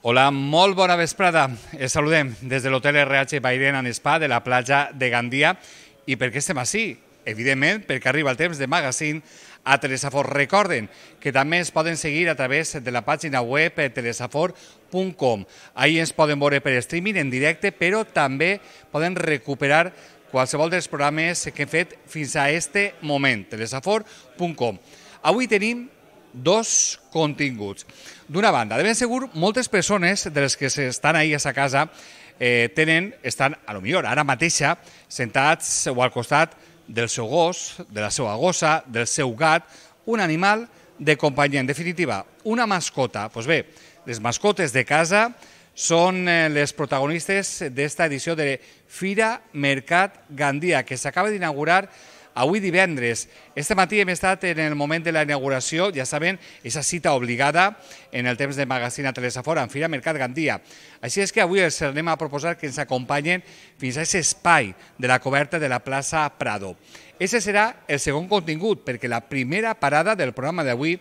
Hola, molt bona vesprada. Els saludem des de l'Hotel RH Bairén and Spa de la platja de Gandia. I per què estem així? Evidentment, perquè arriba el temps de magazine a Telesafor. Recorden que també ens poden seguir a través de la pàgina web telesafor.com. Ahí ens poden veure per streaming en directe, però també poden recuperar qualsevol dels programes que hem fet fins a este moment, telesafor.com. Avui tenim dos continguts. D'una banda, de ben segur, moltes persones de les que estan ahí a sa casa estan, a lo millor, ara mateixa, sentats o al costat del seu gos, de la seva gossa, del seu gat, un animal de companyia. En definitiva, una mascota. Doncs bé, les mascotes de casa són les protagonistes d'esta edició de Fira Mercat Gandia, que s'acaba d'inaugurar avui divendres. Este matí hem estat en el moment de la inauguració, ja saben, aquesta cita obligada en el temps de magazine a Telesafor en Fira Mercat Gandia. Així és que avui els anem a proposar que ens acompanyen fins a aquest espai de la coberta de la plaça Prado. Ese serà el segon contingut, perquè la primera parada del programa d'avui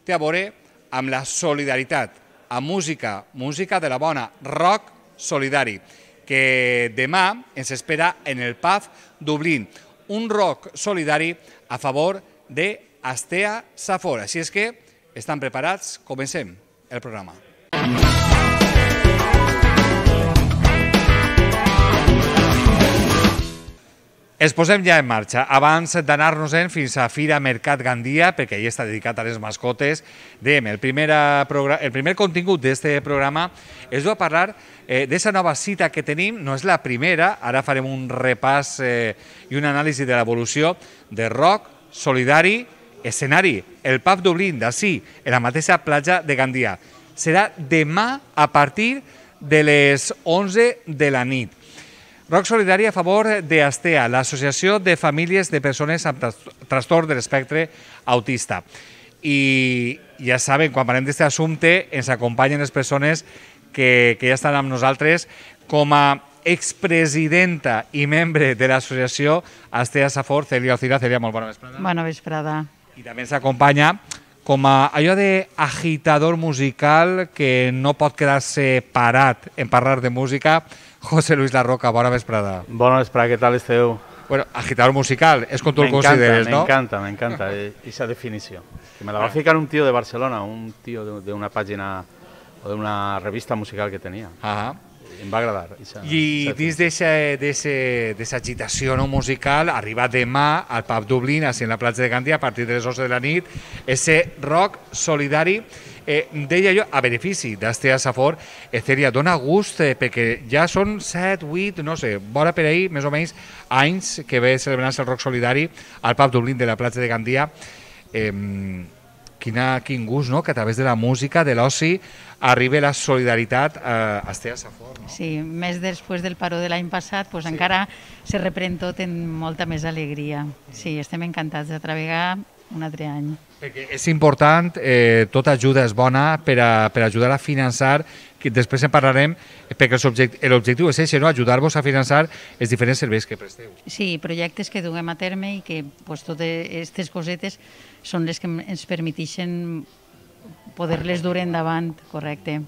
té a veure amb la solidaritat, amb música, música de la bona, rock solidari, que demà ens espera en el pub Dublín. Un rock solidari a favor de Astea Safor. Així és que estan preparats? Comencem el programa. Ens posem ja en marxa. Abans d'anar-nos-en fins a Fira Mercat Gandia, perquè allà està dedicat a les mascotes, dèiem, el primer contingut d'aquest programa és a parlar d'aquesta nova cita que tenim. No és la primera, ara farem un repàs i una anàlisi de l'evolució de rock solidari escenari, el pub Dublín, d'ací, en la mateixa platja de Gandia. Serà demà a partir de les 11 de la nit. Rock solidari a favor d'Astea, l'Associació de Famílies de Persones amb Trastorn de l'Espectre Autista. I ja saben, quan parlem d'aquest assumpte, ens acompanyen les persones que ja estan amb nosaltres com a expresidenta i membre de l'associació Astea Safor, Celia Ocira. Celia, molt bona vesprada. Bona vesprada. I també ens acompanya com a allò d'agitador musical que no pot quedar-se parat en parlar de música, José Luis Larroca. Bona vesprada. Bona vesprada, què tal esteu? Bueno, agitador musical, és com tu el consideres, ¿no? M'encanta esa definició. Que me la va ficar un tío de Barcelona, un tío de una pàgina o de una revista musical que tenia. Em va agradar. I dins d'aquesta agitació musical, arriba demà al pub Dublín, així en la platja de Gandia, a partir de les 11 de la nit, ese rock solidari, deia jo, a benefici d'Astea Safor. Celia, dona gust, perquè ja són 7, 8, no sé, vora per ahir, més o menys, anys que ve celebrant-se el rock solidari al pub Dublín de la platja de Gandia. Quin gust, no?, que a través de la música, de l'oci, arriba la solidaritat a Astea Safor. No? Sí, més després del paró de l'any passat, doncs encara se reprèn tot en molta més alegria. Sí, estem encantats de treballar un altre any. Perquè és important, tota ajuda és bona per ajudar a finançar, que després en parlarem, perquè l'objectiu és això, no? Ajudar-vos a finançar els diferents serveis que presteu. Sí, projectes que duguem a terme i que totes aquestes cosetes són les que ens permeteixen poder-les dur endavant, correcte.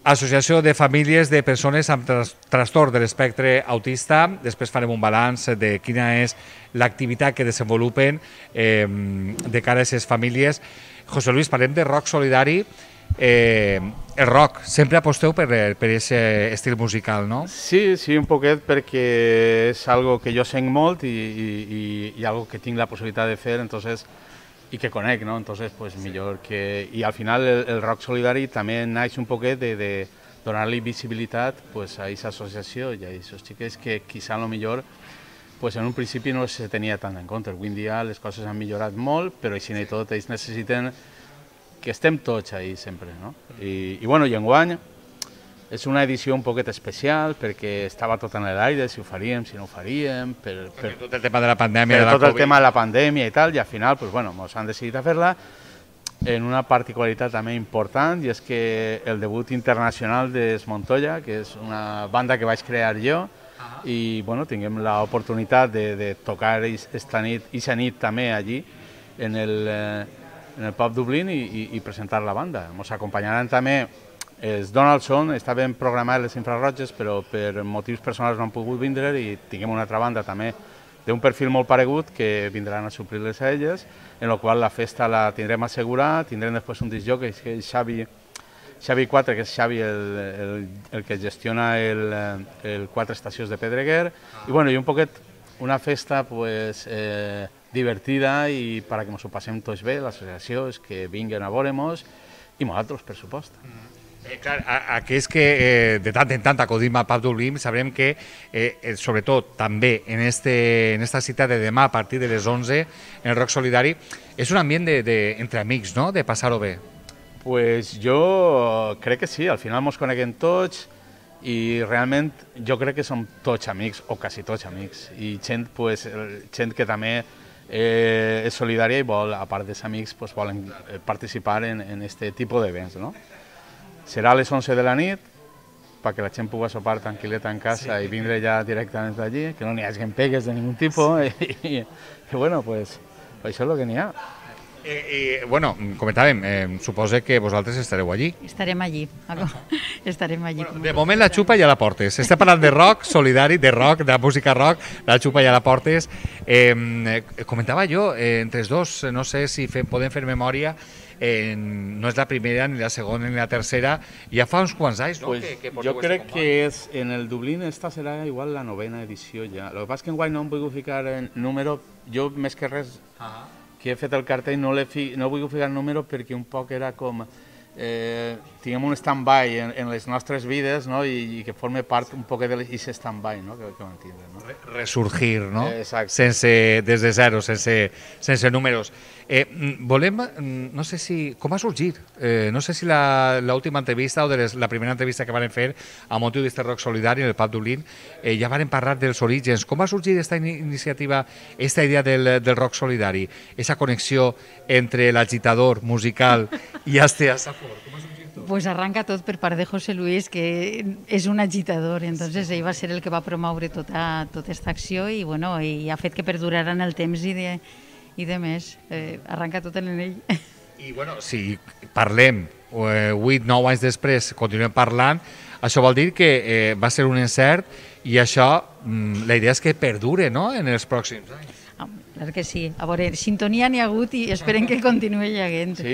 Associació de Famílies de Persones amb Trastorn de l'Espectre Autista. Després farem un balanç de quina és l'activitat que desenvolupen de cara a aquestes famílies. José Luis, parlem de rock solidari. El rock, sempre aposteu per aquest estil musical, no? Sí, un poquet, perquè és algo que jo sent molt i algo que tinc la possibilitat de fer, entonces, i que conec, no? Entonces, pues millor que... I al final el rock solidari també naix un poquet de donar-li visibilitat pues, a aquesta associació i a aquests xiquets que quizá a lo millor pues, en un principi no se tenia tant en compte. Avui en dia les coses han millorat molt, però així i tot ells necessiten que estem tots ahí sempre, no? I bueno, i enguany és una edició un poquet especial perquè estava tot en l'aire, si ho faríem, si no ho faríem... Per tot el tema de la pandèmia. Per tot el tema de la pandèmia i tal, i al final, pues, bueno, ens han decidit a fer-la en una particularitat també important, i és que el debut internacional d'Es Montoya, que és una banda que vaig crear jo, i bueno, tinguem l'oportunitat de tocar aquesta nit també allí, en el pub Dublín, i presentar la banda. Ens acompanyaran també els Donaldson estaven programats les infrarroges, però per motius personals no han pogut vindre i tinguem una altra banda també d'un perfil molt paregut que vindran a suplir-les a elles, en la qual la festa la tindrem assegurada, tindrem després un discjòquei, que és Xavi 4, que és Xavi el que gestiona el 4 estacions de Pedreguer, i bueno, i un poquet una festa pues, divertida i per a que ens ho passem tots bé, l'associació és que vinguen a veure-nos i nosaltres, per supost. Clar, aquells que de tant en tant acudim al Pub Dublín sabrem que, sobretot també en esta cita de demà a partir de les 11 en el Rock Solidari, és un ambient entre amics, no?, de passar-ho bé. Pues jo crec que sí, al final ens coneguem tots i realment jo crec que som tots amics, o quasi tots amics, i gent que també és solidària i vol, a part dels amics, volen participar en aquest tipus d'events, no? Serà a les 11 de la nit, perquè la gent pugui sopar tranquil·leta en casa i vindre ja directament d'allí, que no n'hi hagi pegues de ningun tipus, i bueno, pues això és el que n'hi ha. Bueno, comentàvem, suposo que vosaltres estareu allí. Estarem allí, estarem allí. Bueno, de moment la xupa ja la portes. Estem parlant de rock solidari, de rock, de música rock, la xupa ja la portes. Comentava jo, entre els dos, no sé si podem fer memòria, no és la primera, ni la segona, ni la tercera, ja fa uns quants anys, no? Pues jo crec que en el Dublín esta serà igual la 9ª edició ja. El que passa és que enguany no em vull ficar en número, jo més que res que he fet el cartell no vull ficar el número perquè un poc era com tinguem un stand-by en les nostres vides, no? I que forme part un poc d'aquest stand-by, no? Que vam tindre, no? Resurgir, no? Exacte. Des de zero, sense números. Volem, no sé si... Com va sorgir? No sé si l'última entrevista o la primera entrevista que van fer a motiu d'este rock solidari en el Pub Dublín ja van parlar dels orígens. Com va sorgir aquesta iniciativa, aquesta idea del rock solidari? Esa connexió entre l'agitador musical i Astea Safor. Com va sorgir tot? Pues arranca tot per part de José Luis, que és un agitador, entonces ell va ser el que va promoure tota aquesta acció i, bueno, i ha fet que perdurara en el temps i de més. Arranca tot en ell. I, bueno, si parlem 8-9 anys després, continuem parlant, això vol dir que va ser un encert i això, la idea és que perdure, no?, en els pròxims anys. Clar que sí. A veure, sintonia n'hi ha hagut i esperem que continuï haguent. Sí,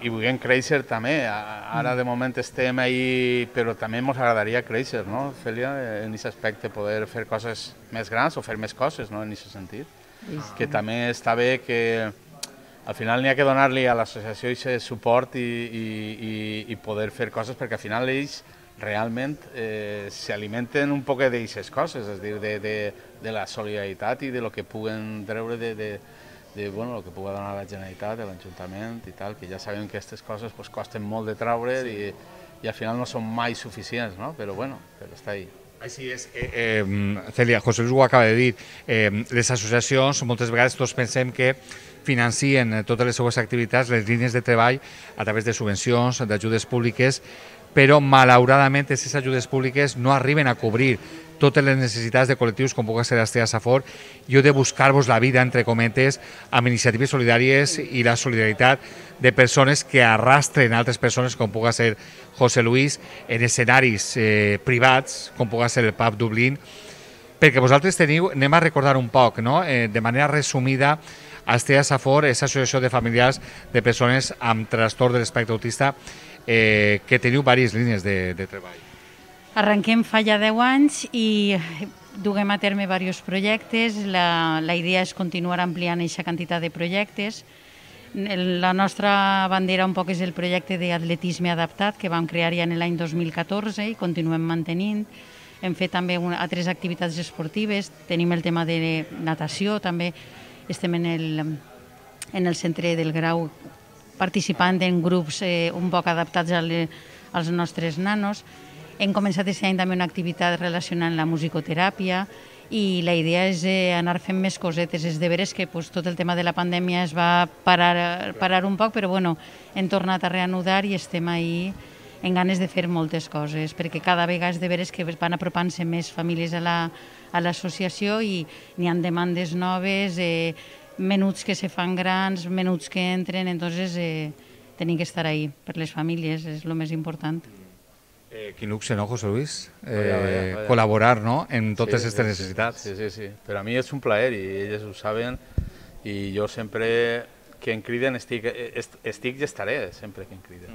i vulguem créixer també. Ara de moment estem ahí, però també ens agradaria créixer, no, Cèlia, en aquest aspecte, poder fer coses més grans o fer més coses, no, en aquest sentit. Que també està bé que al final n'hi ha que donar-li a l'associació aquest suport i poder fer coses, perquè al final ells realment s'alimenten un poc d'aquestes coses, és a dir, de la solidaritat i de lo que puguen treure bueno, el que pugui donar la Generalitat, l'Ajuntament i tal, que ja sabem que aquestes coses costen molt de treure i al final no són mai suficients, no? Però bueno, està ahí. Així és. Cèlia, José Luis ho acaba de dir, les associacions moltes vegades tots pensem que financien totes les seues activitats, les línies de treball a través de subvencions, d'ajudes públiques, però malauradament aquestes ajudes públiques no arriben a cobrir totes les necessitats de col·lectius com pugui ser Astea Safor i heu de buscar-vos la vida, entre cometes, amb iniciatives solidàries i la solidaritat de persones que arrastren altres persones com pugui ser José Luis en escenaris privats, com pugui ser el Pub Dublín, perquè vosaltres teniu, anem a recordar un poc, no?, de manera resumida, Astea Safor és associació de familiars de persones amb trastorn de l'espectre autista que teniu diverses línies de treball. Arrenquem fa ja 10 anys i duguem a terme diversos projectes. La idea és continuar ampliant aquesta quantitat de projectes. La nostra bandera un poc és el projecte d'atletisme adaptat que vam crear ja en l'any 2014 i continuem mantenint. Hem fet també altres activitats esportives, tenim el tema de natació, també estem en el centre del Grau participant en grups un poc adaptats als nostres nanos. Hem començat aquest any també una activitat relacionant la musicoteràpia i la idea és anar fent més cosetes. És de veres que tot el tema de la pandèmia es va parar un poc, però bueno, hem tornat a reanudar i estem ahí en ganes de fer moltes coses, perquè cada vegada és de veres que van apropant-se més famílies a l'associació i n'hi ha demandes noves, menuts que se fan grans, menuts que entren, entonces tenim que estar ahí per les famílies, és el més important. Quin luxe, no, José Luis? Col·laborar, no?, en totes aquestes necessitats. Sí. Per a mi és un plaer i elles ho saben i jo sempre que em criden estic i estaré sempre que em criden.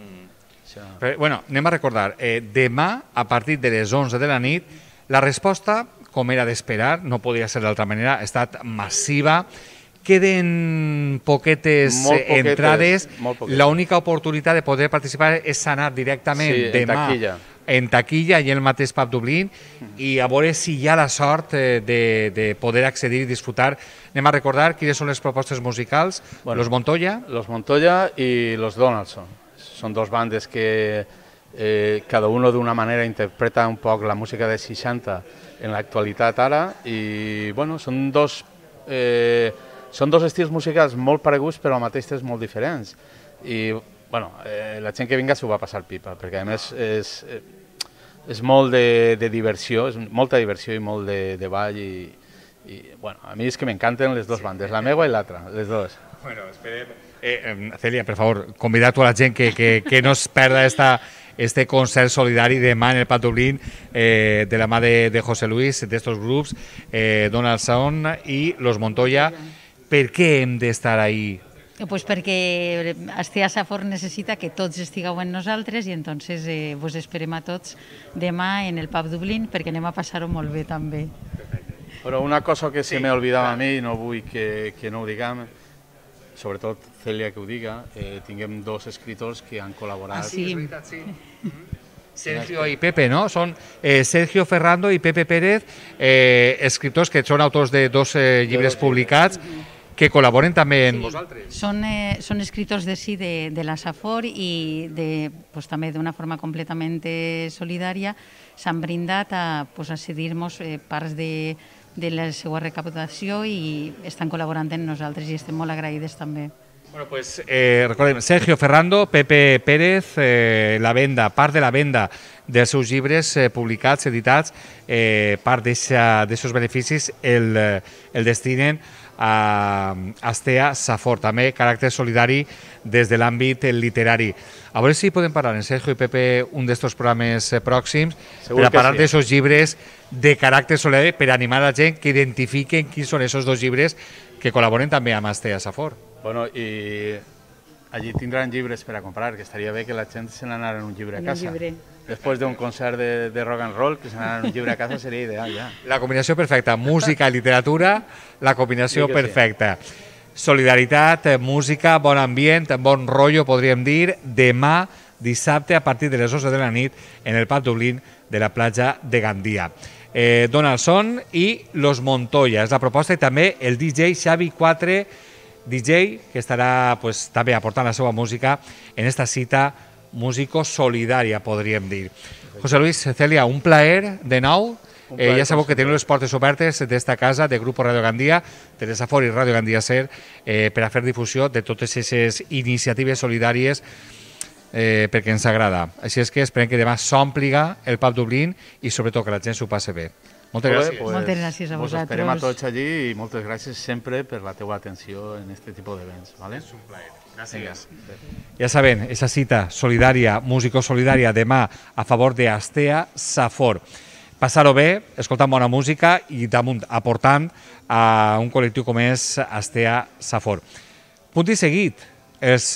Bueno, anem a recordar, demà a partir de les 11 de la nit la resposta, com era d'esperar, no podia ser d'altra manera, ha estat massiva. Queden poquetes entrades. L'única oportunitat de poder participar és anar directament demà en taquilla i en el mateix Pub Dublín i a veure si hi ha la sort de poder accedir i disfrutar. Anem a recordar quines són les propostes musicals. Los Montoya. Los Montoya i los Donaldson. Són dos bandes que cada uno d'una manera interpreta un poc la música de 60 en l'actualitat ara i bueno, són dos estils musicals molt pareguts però al mateix temps molt diferents i bueno, la gent que vinga s'ho va passar pipa perquè a més és molt de diversió, és molta diversió i molt de ball i bueno, a mi és que m'encanten les dues bandes, la meva i l'altra, les dues. Bueno, esperem. Celia, per favor, convida a la gent que no es perda este concert solidari demà en el Pub Dublín de la mà de José Luis, d'estos grups, Donaldson i Los Montoya. Per què hem d'estar ahí? Pues perquè Astea Safor necessita que tots estigueu amb nosaltres i entonces vos esperem a tots demà en el Pub Dublín perquè anem a passar-ho molt bé també. Però una cosa que se m'ha oblidat a mi i no vull que no ho diguem, sobretot Celia que ho diga, tinguem dos escriptors que han col·laborat. Sí, és veritat, sí. Sergio i Pepe, no? Són Sergio Ferrando i Pepe Pérez, escriptors que són autors de dos llibres publicats que col·laboren també amb vosaltres. Són escriptors de la Safor i també d'una forma completament solidària s'han brindat a cedir-nos parts de la seva recaptació i estan col·laborant amb nosaltres i estem molt agraïdes també. Bueno, pues recordem, Sergio Ferrando, Pepe Pérez, part de la venda dels seus llibres publicats, editats, part d'aquests beneficis el destinen a Astea Safor, també caràcter solidari des de l'àmbit literari. A veure si podem parlar en Sergio i Pepe un d'estos programes pròxims per a parlar d'aquests llibres de caràcter solidari per animar la gent que identifiquen quins són aquests dos llibres que col·laboren també amb Astea Safor. Bueno, i allí tindran llibres per a comprar, que estaria bé que la gent se n'anara en un llibre a casa. Després d'un concert de rock and roll, que se n'anara en un llibre a casa seria ideal, ja. La combinació perfecta, música i literatura, la combinació perfecta. Solidaritat, música, bon ambient, bon rotllo, podríem dir, demà, dissabte, a partir de les 11 de la nit, en el Pub Dublín de la platja de Gandia. Donaldson i Los Montoya, és la proposta, i també el DJ Xavi 4, DJ, que estarà també aportant la seva música en esta cita músico-solidària, podríem dir. José Luis, Celia, un plaer de nou. Ja sabeu que teniu les portes obertes d'esta casa, de Grupo Radio Gandia, de Safor i Radio Gandia Ser, per a fer difusió de totes aquestes iniciatives solidàries perquè ens agrada. Així és que esperem que demà s'ompliga el Pub Dublín i sobretot que la gent s'ho passi bé. Moltes gràcies. Moltes gràcies a vosaltres. Us esperem a tots allí i moltes gràcies sempre per la teua atenció en aquest tipus d'events. És un plaer. Gràcies. Ja saben, esa cita solidària, músico-solidària, demà a favor d'Astea Safor. Passar-ho bé, escoltant bona música i damunt aportant a un col·lectiu com és Astea Safor. Punt i seguit, els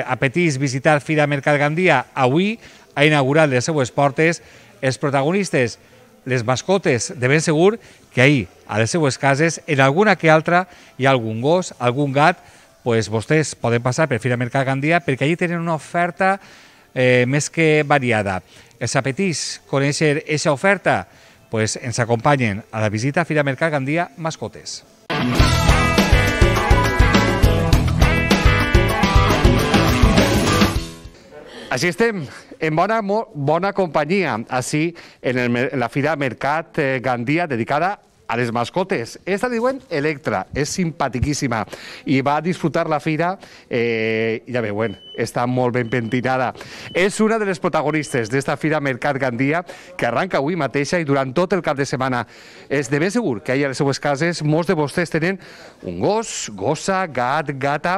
apetits visitar Fira Mercat Gandia. Avui ha inaugurat les seues portes els protagonistes, les mascotes, de ben segur que ahir, a les seues cases, en alguna que altra, hi ha algun gos, algun gat, doncs vostès poden passar per Fira Mercat Gandia perquè allí tenen una oferta més que variada. Els apetits conèixer aquesta oferta? Doncs ens acompanyen a la visita a Fira Mercat Gandia Mascotes. Així estem, en bona companyia, així en la Fira Mercat Gandia dedicada a les mascotes. Esta diuen Electra, és simpatiquíssima i va disfrutar la fira, ja veuen, està molt ben pentinada. És una de les protagonistes d'esta Fira Mercat Gandia que arranca avui mateixa i durant tot el cap de setmana. És de ben segur que ahir a les seues cases molts de vostès tenen un gos, gossa, gat, gata.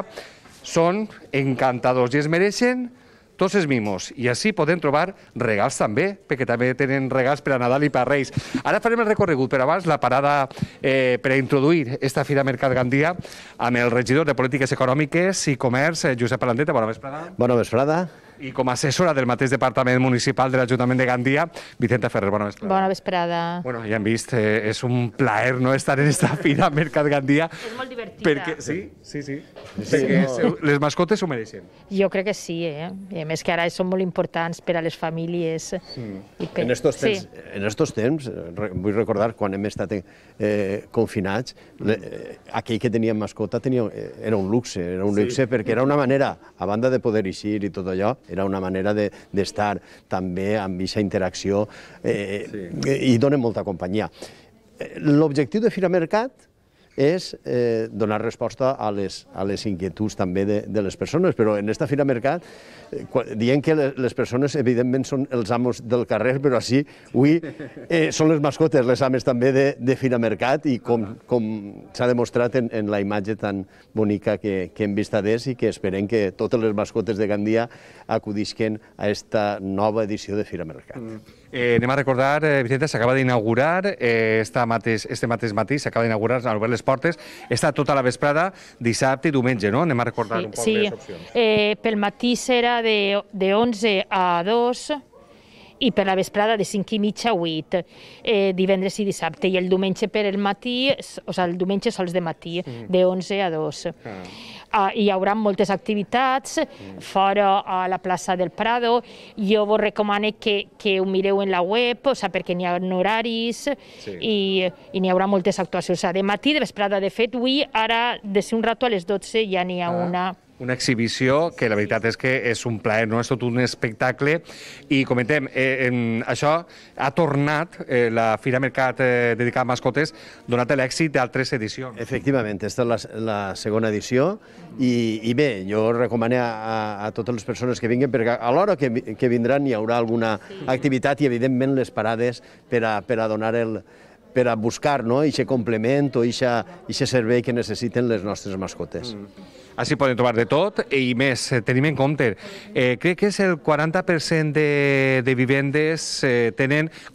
són encantadors i es mereixen tots els mimos. I així podem trobar regals també, perquè també tenen regals per a Nadal i per a Reis. Ara farem el recorregut, però abans la parada per a introduir esta Fira Mercat Gandia amb el regidor de Polítiques Econòmiques i Comerç, Josep Palandeta. Bona vesprada. Bona vesprada. I com a assessora del mateix Departament Municipal de l'Ajuntament de Gandia, Vicenta Ferrer. Bona vesprada. Bona vesprada. Bueno, ja hem vist, és un plaer no estar en esta Fira Mercat Gandia. És molt divertida. Perquè, sí. Perquè les mascotes s'ho mereixen. Jo crec que sí, I a més que ara són molt importants per a les famílies. En estos temps, vull recordar, quan hem estat confinats, aquell que tenia mascota era un luxe, perquè era una manera, a banda de poder eixir i tot allò, era una manera d'estar també amb aquesta interacció i dona molta companyia. L'objectiu de Fira Mercat és donar resposta a les inquietuds també de les persones, però en esta Fira Mercat dient que les persones evidentment són els amos del carrer, però així avui són les mascotes les ames també de Fira Mercat i com s'ha demostrat en la imatge tan bonica que hem vist adés i que esperem que totes les mascotes de Gandia acudisquen a esta nova edició de Fira Mercat. Anem a recordar, Vicenta, s'acaba d'inaugurar, este mateix matí s'acaba d'inaugurar, s'han obert les portes, està tota la vesprada, dissabte i diumenge, no? Anem a recordar un poc les opcions. Sí, pel matí serà de 11 a 2 i per la vesprada de 5 i mitja a 8, divendres i dissabte, i el diumenge per el matí, o sigui, el diumenge sols de matí, de 11 a 2. Hi haurà moltes activitats fora a la plaça del Prado. Jo vos recomano que ho mireu en la web, perquè n'hi ha horaris i n'hi haurà moltes actuacions. De matí, de vesprada, de fet, avui, ara, de ser un rato a les 12, ja n'hi ha una. Una exhibició que la veritat és que és un plaer, no? És tot un espectacle. I comentem, això ha tornat, la Fira Mercat dedicada a mascotes, donat l'èxit d'altres edicions. Efectivament, aquesta és la segona edició i bé, jo recomano a totes les persones que vinguin perquè a l'hora que vindran hi haurà alguna activitat i evidentment les parades per a donar per a buscar aquest complement o aquest servei que necessiten les nostres mascotes. Així podem trobar de tot i més, tenim en compte, crec que és el 40% de vivendes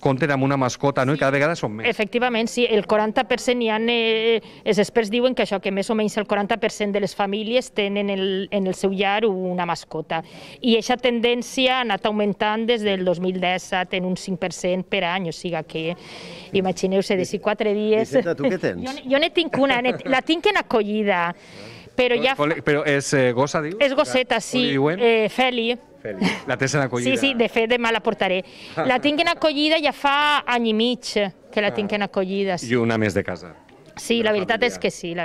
compten amb una mascota, no? I cada vegada són més. Efectivament, sí, el 40% hi ha, els experts diuen que això, que més o menys el 40% de les famílies tenen en el seu llar una mascota. I aquesta tendència ha anat augmentant des del 2017 en un 5% per any, o sigui que imagineu-se, de 4 dies... Vicenta, tu què tens? Jo ne tinc una, la tinc en acollida. Però és gossa, dius? És gosseta, sí. Feli. La tens en acollida? Sí, de fet, demà la portaré. La tinc en acollida ja fa any i mig que la tinc en acollida. I una més de casa. Sí, la veritat és que sí,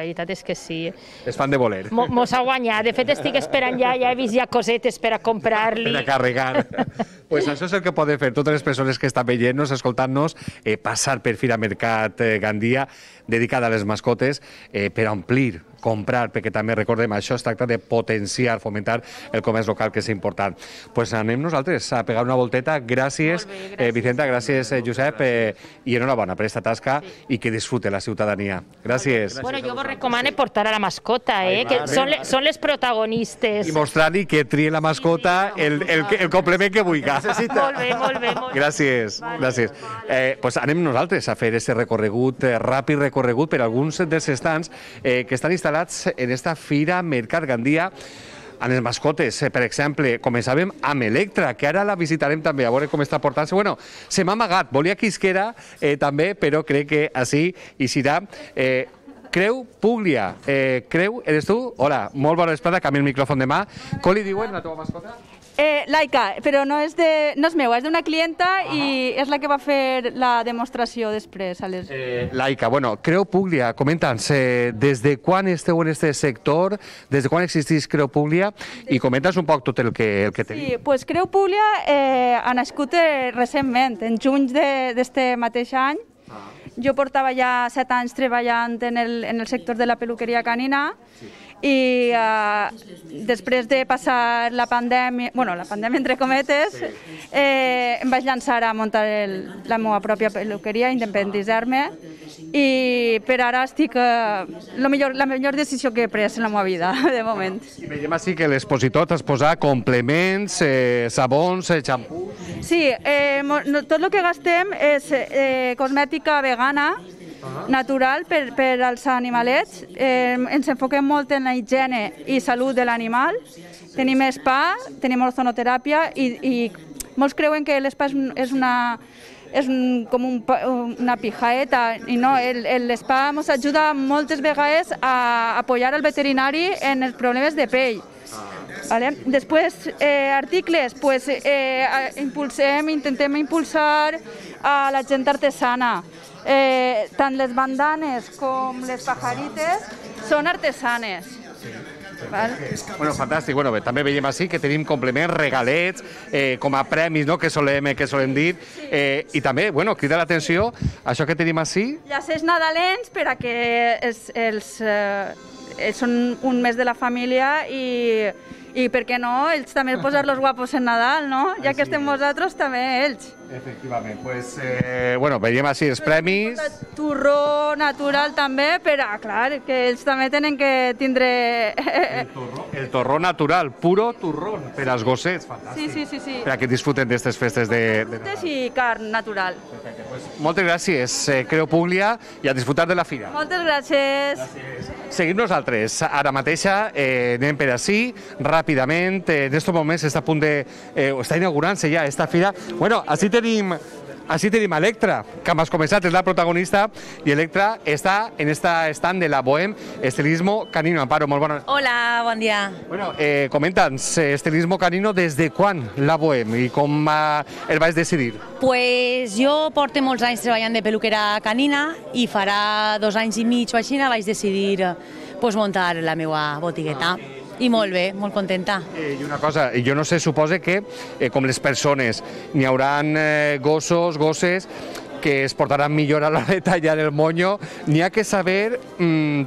És fan de voler. Mos ha guanyat. De fet, estic esperant ja he vist ja cosetes per a comprar-li. Per a carregar. Pues això és el que poden fer totes les persones que estan veient-nos, escoltant-nos, passar per Fira Mercat Gandia, dedicada a les mascotes, per omplir, comprar, perquè també recordem, això es tracta de potenciar, fomentar el comerç local, que és important. Pues anem nosaltres a pegar una volteta. Gràcies, Vicenta, gràcies, Josep, i enhorabona per aquesta tasca i que disfrute la ciutadania. Gràcies. Bueno, jo vos recomano portar a la mascota, que són les protagonistes. I mostrar-li que trie la mascota el complement que vulgui. Molt bé. Gràcies. Pues anem nosaltres a fer aquest recorregut, ràpid recorregut per alguns dels estants que estan instal·lats en esta Fira Mercat Gandia amb les mascotes. Per exemple, començàvem amb Electra, que ara la visitarem també, a veure com està portant-se. Bueno, se m'ha amagat, volia que isquera també, però crec que així hi serà. Creu Puglia. Creu, eres tu? Hola, molt bona vesprada, canvia el micròfon de mà. Com li diuen a la teva mascota? Laika, però no és meua, és d'una clienta i és la que va fer la demostració després. Laika, bueno, Creu Puglia, comenta'ns, des de quan esteu en aquest sector, des de quan existeix Creu Puglia i comenta'ns un poc tot el que tenim. Sí, doncs Creu Puglia ha nascut recentment, en juny d'aquest mateix any. Jo portava ja 7 anys treballant en el sector de la peluqueria canina i després de passar la pandèmia entre cometes, em vaig llançar a muntar la meva pròpia peluqueria, independitzar-me i per ara estic la millor decisió que he pres en la meva vida, de moment. I veiem així que l'expositor t'has posat complements, sabons, xampús... Sí, tot el que gastem és cosmètica vegana, natural per als animalets. Ens enfoquem molt en la higiene i salut de l'animal. Tenim spa, tenim ozonoteràpia i molts creuen que l'espa és com una pijaeta i no, l'espa ens ajuda moltes vegades a apoyar el veterinari en els problemes de pell. Després, articles, intentem impulsar a la gent artesana. Tant les bandanes com les pajarites són artesanes. Bueno, fantàstic. Bueno, també veiem així que tenim complements, regalets, com a premis, que solem dir. I també, bueno, crida l'atenció, això que tenim així... Llacers nadalents per a que són un mes de la família i per què no, ells també posar-los guapos en Nadal, no? Ja que estem vosaltres, també ells. Efectivament, doncs, bueno, veiem així els premis. Torró natural també, però, clar, que ells també tenen que tindre... El torró natural, puro turrón, per als gossets, fantàstic. Sí. Per a que disfruten d'aquestes festes de Nadal. I carn natural. Perfecte, doncs, moltes gràcies, Creu Públia, i a disfrutar de la fira. Moltes gràcies. Seguim nosaltres. Ara mateixa anem per ací, ràpidament. En aquests moments està a punt de... està inaugurant-se ja esta fira. Bueno, així tenim Electra, que has començat, és la protagonista, i Electra està en esta stand de la Bohem Estilismo Canino. Amparo, molt bona. Hola, bon dia. Bueno, comenta'ns, Estilismo Canino, des de quan la Bohem i com el vaig decidir? Pues jo porto molts anys treballant de peluquera canina i farà 2 anys i mig o així vaig decidir muntar la meva botigueta. I molt bé, molt contenta. I una cosa, jo no sé, suposo que, com les persones, n'hi hauran gossos, gosses, que es portaran millor a l'hora de tallar el monyo, n'hi ha que saber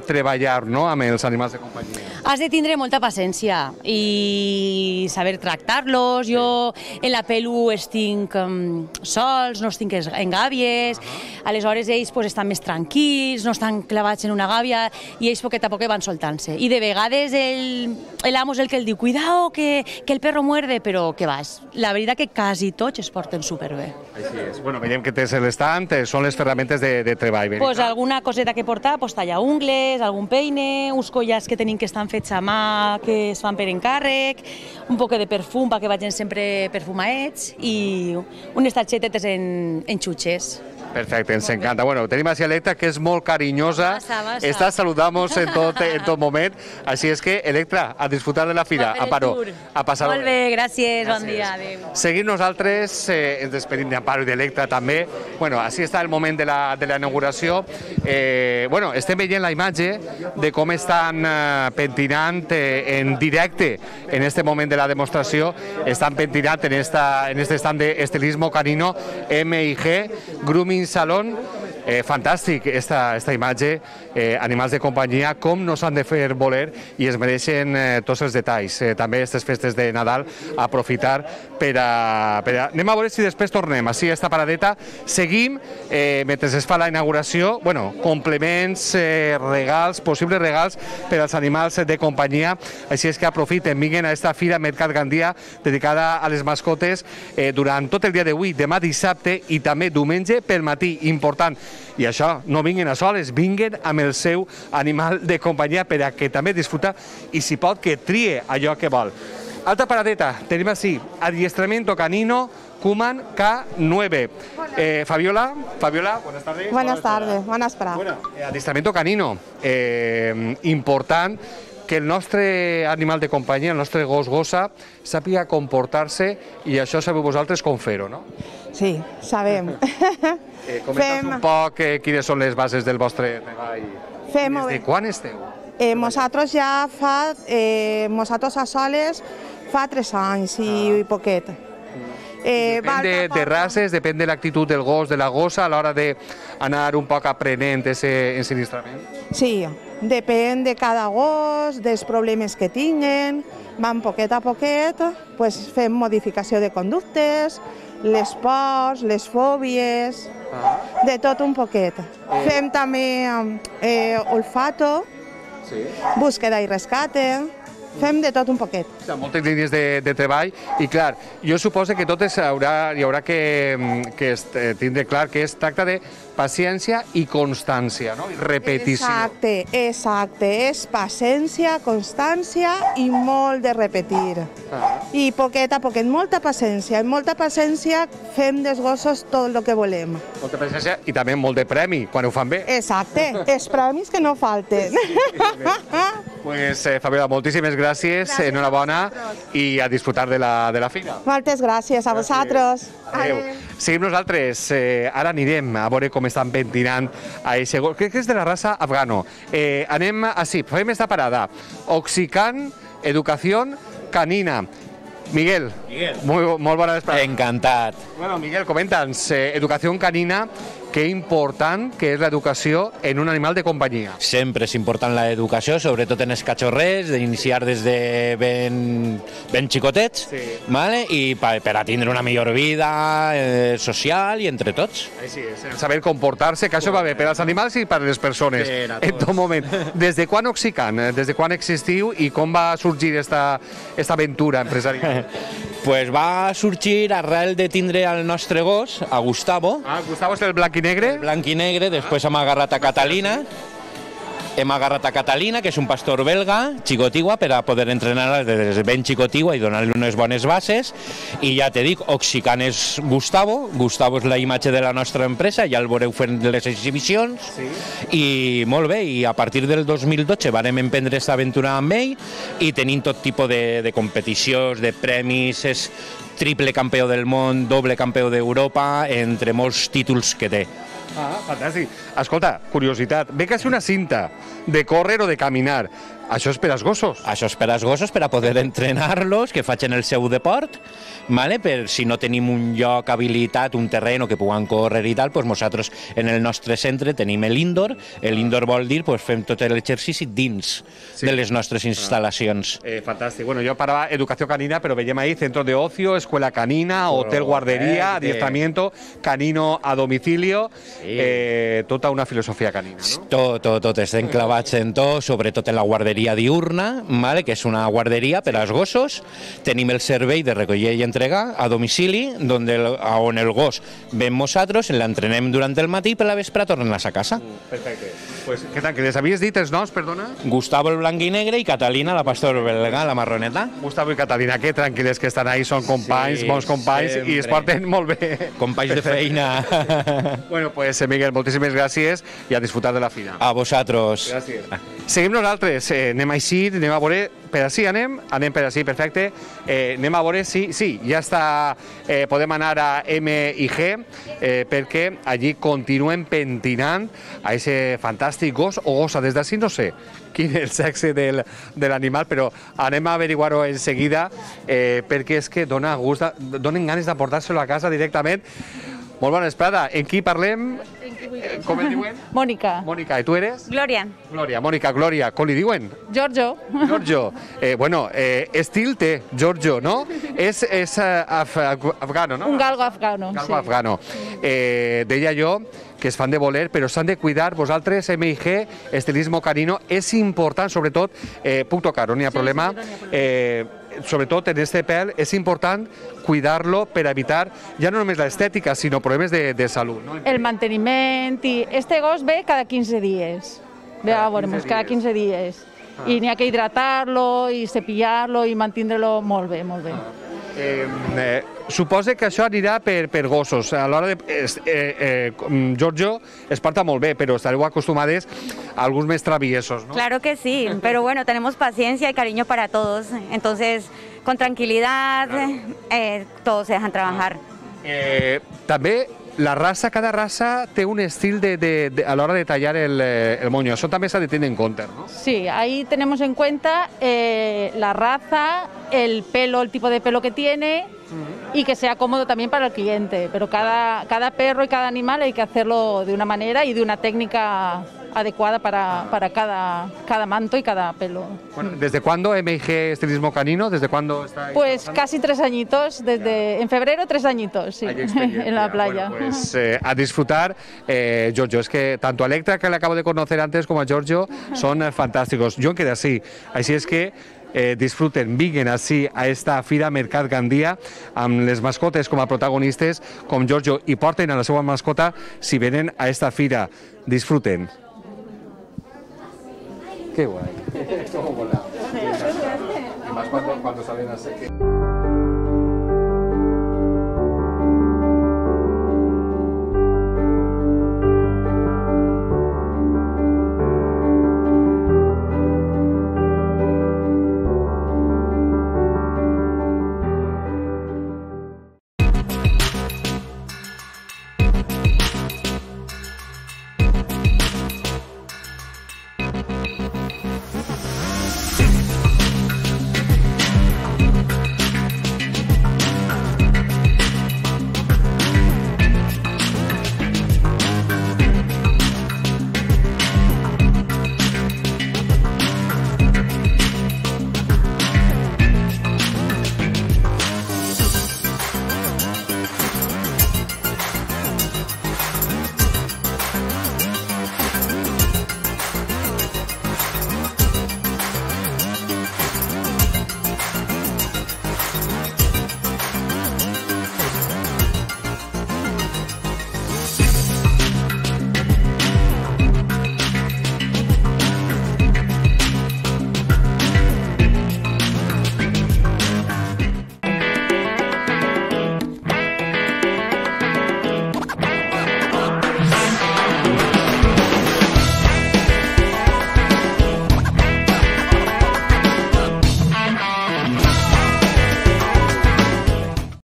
treballar, no?, amb els animals de companyia. Has de tindre molta paciència i saber tractar-los. Jo en la pelu els tinc sols, no els tinc en gàbies, aleshores ells estan més tranquils, no estan clavats en una gàbia i ells poquet a poc van soltant-se. I de vegades l'amo és el que el diu, cuidao, que el perro muerde, però què vas? La veritat que quasi tots es porten superbé. Així és. Bueno, veiem que tens l'estat, són les ferramentes de treball. Pues alguna coseta que portar, tallar ungles, algun peine, uns collars que tenim que estan fets a mà, que es fan per encàrrec, un poc de perfum perquè vagin sempre perfumaets i unes targetetes en xutxes. Perfecte, ens encanta. Bueno, tenim així Electra, que és molt carinyosa, està saludant-nos en tot moment, així és que, Electra, a disfrutar de la fira. Amparo, a passar-ho bé. Molt bé, gràcies, bon dia, adéu. Seguim nosaltres, ens despedim d'Amparo i d'Electra també. Bueno, així està el moment de la inauguració. Bueno, estem veient la imatge de com estan pentinant en directe en este moment de la demostració, estan pentinant en este stand d'estilismo canino M&G Grooming Salon. Fantàstic esta imatge, animals de companyia, com no s'han de fer voler i es mereixen tots els detalls. També aquestes festes de Nadal, aprofitar per a... Anem a veure si després tornem. Així, esta paradeta. Seguim, mentre es fa la inauguració, bueno, complements, regals, possibles regals per als animals de companyia. Així és que aprofiten, vinguen a esta fira Mercat Gandia, dedicada a les mascotes, durant tot el dia d'avui, demà dissabte i també diumenge pel matí. Important. I això, no vinguin a soles, vinguin amb el seu animal de companyia per a que també disfruta i si pot que trie allò que vol. Altra paradeta, tenim així, adiestramiento canino Cuman K9. Fabiola, buenas tardes. Buenas tardes, buenas esperar. Bueno, adiestramiento canino, important que el nostre animal de companyia, el nostre gos-gossa, sàpiga comportar-se i això sabeu vosaltres com fer-ho, no? Sí, sabem. Comenta'ns un poc quines són les bases del vostre treball. Des de quan esteu? Nosaltres ja nosaltres a soles fa 3 anys i poquet. Depèn de races, depèn de l'actitud del gos, de la gossa, a l'hora d'anar un poc aprenent aquest ensinistrament? Sí, depèn de cada gos, dels problemes que tinguen, van poquet a poquet, fem modificació de conductes, les pors, les fòbies, de tot un poquet. Fem també olfato, búsqueda i rescate, fem de tot un poquet. Hi ha moltes línies de treball i, clar, jo suposo que totes hi haurà que tindre clar que es tracta de paciència i constància, no? I repetició. Exacte. És paciència, constància i molt de repetir. I poquet a poquet, molta paciència. Amb molta paciència fem dels gossos tot el que volem. Molta paciència i també molt de premi, quan ho fan bé. Exacte, els premis que no falten. Pues, Fabiola, moltíssimes gràcies, enhorabona i a disfrutar de la fira. Moltes gràcies a vosaltres. Adéu. Seguim nosaltres. Ara anirem a veure com estan pentinant a aquest gos. Crec que és de la raça afgano. Anem així, fem esta parada. Oxican, educació canina. Miguel, molt bona vesprada. Encantat. Bueno, Miguel, comenta'ns, educació canina, que important que és l'educació en un animal de companyia. Sempre és important l'educació, sobretot en els cachorrers, d'iniciar des de ben xicotets, vale? I per a tindre una millor vida social i entre tots. Sí, saber comportar-se, que això va bé per als animals i per a les persones. En tot moment. Des de quan Oxican? Des de quan existiu i com va sorgir esta aventura empresarial? Pues va sorgir arrel de tindre el nostre gos, a Gustavo. Gustavo és el blanc i negre? El blanc i negre, després hem agarrat a Catalina. Hem agarrat a Catalina, que és un pastor belga, xicotigua, per a poder entrenar-la des de ben xicotigua i donar-li unes bones bases. I ja te dic, Oxican és Gustavo. Gustavo és la imatge de la nostra empresa, ja el veureu fent les exhibicions. I molt bé, i a partir del 2012 vam emprendre aquesta aventura amb ell i tenim tot tipus de competicions, de premis, és triple campió del món, doble campió d'Europa, entre molts títols que té. Fantàstic. Escolta, curiositat, ve que és una cinta de córrer o de caminar. Això és per als gossos? Això és per als gossos, per a poder entrenar-los, que facin el seu deport, vale? Per si no tenim un lloc habilitat, un terreny que puguen córrer i tal, doncs nosaltres en el nostre centre tenim l'indoor. L'indoor vol dir que fem tot l'exercici dins de les nostres instal·lacions. Fantàstic. Bueno, jo parava educació canina, però veiem ahí centro de ocio, escuela canina, hotel guardería, adiestramiento, canino a domicilio, tota una filosofia canina, no? Tot, estem clavats en tot, sobretot en la guarderia diurna, vale? Que és una guarderia per als gossos. Tenim el servei de recollir i entregar a domicili, on el gos ve amb nosaltres, l'entrenem durant el matí i per la vespre tornen a casa. Perfecte. Pues, què tal, que les havies dit els noms, perdona? Gustavo el blanc i negre i Catalina la pastor belga, la marroneta. Gustavo i Catalina, que tranquil·les que estan ahí, són companys, bons companys, i es porten molt bé. Companys de feina. Bueno, pues Miguel, moltíssimes gràcies i a disfrutar de la fira. A vosaltres. Gràcies. Seguim nosaltres, anem així, anem a veure, per així anem per així, perfecte, anem a veure si, ja està, podem anar a M i G, perquè allí continuen pentinant a aquest fantàstic gos o gossa, des d'ací no sé quin és el sexe de l'animal, però anem a averiguar-ho en seguida, perquè és que donen ganes de portar-se-lo a casa directament. Molt bona vesprada. En qui parlem? Com el diuen? Mònica. Mònica, i tu eres? Glòria. Glòria, Mònica, Glòria. Com li diuen? Giorgio. Giorgio. Bueno, estil té, Giorgio, no? És afgano, no? Un galgo afgano. Galgo afgano. Deia jo que es fan de voler, però s'han de cuidar. Vosaltres, MIG, estilismo canino, és important, sobretot, puc tocar, no hi ha problema, sobretot en este pèl, és important cuidar-lo per evitar ja no només l'estètica, sinó problemes de salut. No? El manteniment i... Este gos ve cada 15 dies. Ve a veure-nos, cada 15 dies. I n'hi ha que hidratar-lo i cepillar-lo i mantindre-lo molt bé, molt bé. Suposa que això anirà per gossos. A l'hora de... Giorgio es porta molt bé, però estareu acostumades a alguns més traviesos, ¿no? Claro que sí, pero bueno, tenemos paciencia y cariño para todos. Entonces, con tranquilidad, todos se dejan trabajar. També la raça, cada raça té un estil a l'hora de tallar el moño. Això també s'ha de tenir en compte, ¿no? Sí, ahí tenemos en cuenta la raza, el pelo, el tipo de pelo que tiene y que sea cómodo también para el cliente. Pero cada perro y cada animal hay que hacerlo de una manera y de una técnica adecuada para cada manto y cada pelo. Bueno, ¿desde cuándo MG Estilismo Canino? ¿Desde cuándo está? Pues casi 3 añitos, en febrero 3 añitos, sí, en la playa. Bueno, pues a disfrutar, Giorgio, es que tanto a Electra, que le acabo de conocer antes, como a Giorgio, son fantásticos. Jo em quedo així, així és que disfruten, vinguin així a esta Fira Mercat Gandia amb les mascotes com a protagonistes, com Giorgio, i porten a la seva mascota si venen a esta fira. Disfruten. Qué guay. Cómo mola. Y más cuando salen a seque.